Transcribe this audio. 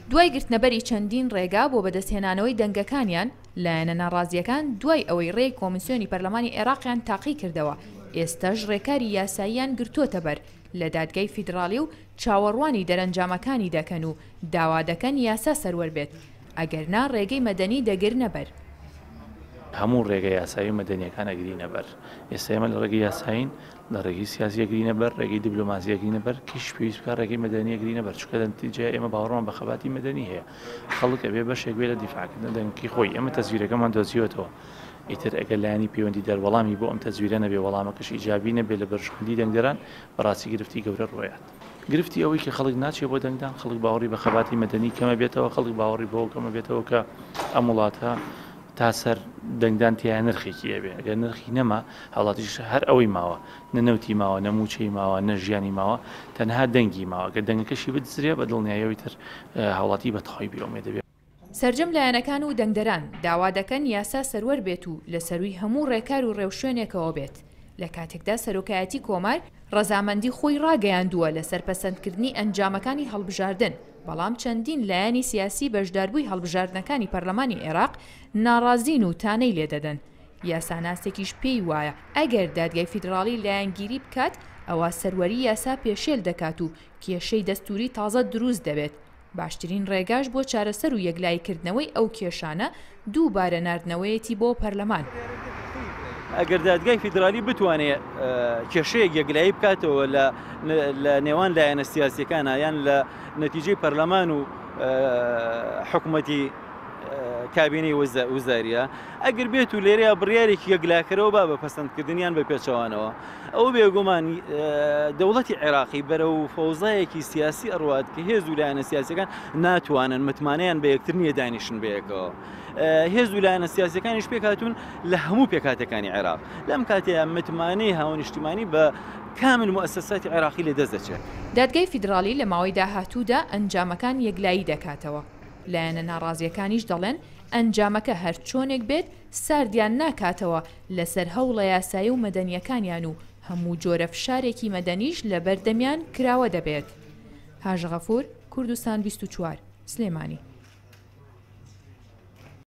دوای گرتنەبەری چەندین ڕێگا بۆ بەدەستهێنانەوەی دەنگەکانیان، لایەنە ناڕازییەکان دوای ئەوەی ڕێی کۆمیسیۆنی پەرلەمانی عێراقیان تاقیکردەوە، ئێستاش ڕێکاری یاساییان گرتۆتەبەر لە دادگای فیدراڵی و چاوەڕوانی دەرەنجامەکانی دەکەن و داوا دەکەن یاسا سەروەر بێت، ئەگەرنا ڕێگەی مەدەنی دەگرنەبەر. هەموو ڕێگە یاسایی و مەدەنییەکان ئەگرینەبەر. ئێستا ئێمە لە ڕێگەی یاسایین، لە ڕێگەی سیاسی ئەگرینە بەر، ڕێگەی دیبلۆماسی ئەگرینە بەر، کەیش پێویست بکات ڕێگەی مەدەنی ئەگرینە بەر، چونکە لە نەتیجەیا ئێمە باوەڕمان بە خەباتی مەدەنی هەیە. خەڵک ئەبێ بەشێک بێ لە دیفاعکردن لە دەنگەکەی خۆی. ئێمە تەزویرەکەمان دۆزیوەتەوە. ئیتر ئەگەر لایەنی پەیوەندیدار وەڵامی بۆ ئەم تەزویرە نەبێ، وەڵامەکەش ئیجابی نەبێ لە بەرژەوەندی دەنگدەران، بەڕاستی گرفتی گەورە ڕووئەیات. گرفتی ئەوەی کە خەڵک ناچێ بۆ دەنگدان، خەڵک باوەڕی بە خەباتی مەدەنی کەمە بێتەوە، خەڵک باوەڕی بەوە کەمە بێتەوە کە ئەم وڵاتە تا سەر دەنگدان تیایا نرخێکی ئەبێ، ئەگەر نرخی نەما هاوڵاتیش هەر ئەوەی ماوە، نە نەوتی ماوە، نە مووچەی ماوە، نە ژیانی ماوە، تەنها دەنگی ماوە، گەر دەنگەکەشی بدزرێ بە دڵنیاییەوە ئیتر هاوڵاتی بە تەواوی بێ ئومێد دەبێ. سەرجەم لایەنەکان و دەنگدەران داوا دەکەن یاسا سەروەر بێت و لە سەرووی هەموو ڕێکار و ڕێوشوێنێکەوە بێت، لە کاتێکدا سەرۆکایەتی کۆمار ڕەزامەندی خۆی ڕاگەیاندووە لەسەر پەسەندکردنی ئەنجامەکانی هەڵبژاردن، بەڵام چەندین لایەنی سیاسی بەشداربووی هەڵبژاردنەکانی پەرلەمانی عێراق ناڕازین و تانەی لێدەدەن. یاساناسێکیش پێی وایە ئەگەر دادگای فیدراڵی لایەنگیری بکات ئەوا سەروەری یاسا پێشێل دەکات و کێشەی دەستووری تازە دروست دەبێت، باشترین ڕێگاش بۆ چارەسەر و یەکلاییکردنەوەی ئەو کێشانە دووبارە ناردنەوەیەتی بۆ پەرلەمان. ئەگەر دادگای فیدرالی بتوانێ کێشەیەک یەکلایی بکاتەوە لە نێوان لایەنە سیاسیەکانە یان لە نەتیجەی پەرلەمان و حکوومەتی کابینەی وزاریە ئەگەر بێت و لێرەیە بڕیارێکی یەکلاکەرەوە با بە پەسەندکردنیان بە پێچەوانەوە ئەوە بێگومان دەوڵەتی عێراقی بەرەو فەوزایەکی سیاسی ئەڕوات کە هێز و لایەنە سیاسەکان ناتوانن متمانەیان بە یەکتر نییە دانیشن بەیەکەوە. هێز و لایەنە سیاسەکانیش پێکهاتوون لە هەموو پێکهاتەکانی عێراق لەم کاتەیە متمانەی هاونیشتیمانی بە کامل موئەسەساتی عێراقی لە دەست دەچێت. دادگای فیدراڵی لە ماوەی داهاتوودا ئەنجامەکان یەکلایی دەکاتەوە، لایەنە ناڕازییەکانیش دەڵێن ئەنجامەکە هەرچۆنێک بێت ساردیان ناکاتەوە لەسەر هەوڵە یاسایی و مەدەنییەکانیان و هەموو جۆرە فشارێکی مەدەنیش لەبەردەمیان کراوە دەبێت. هاژە غەفور، کوردستان 24، سلێمانی.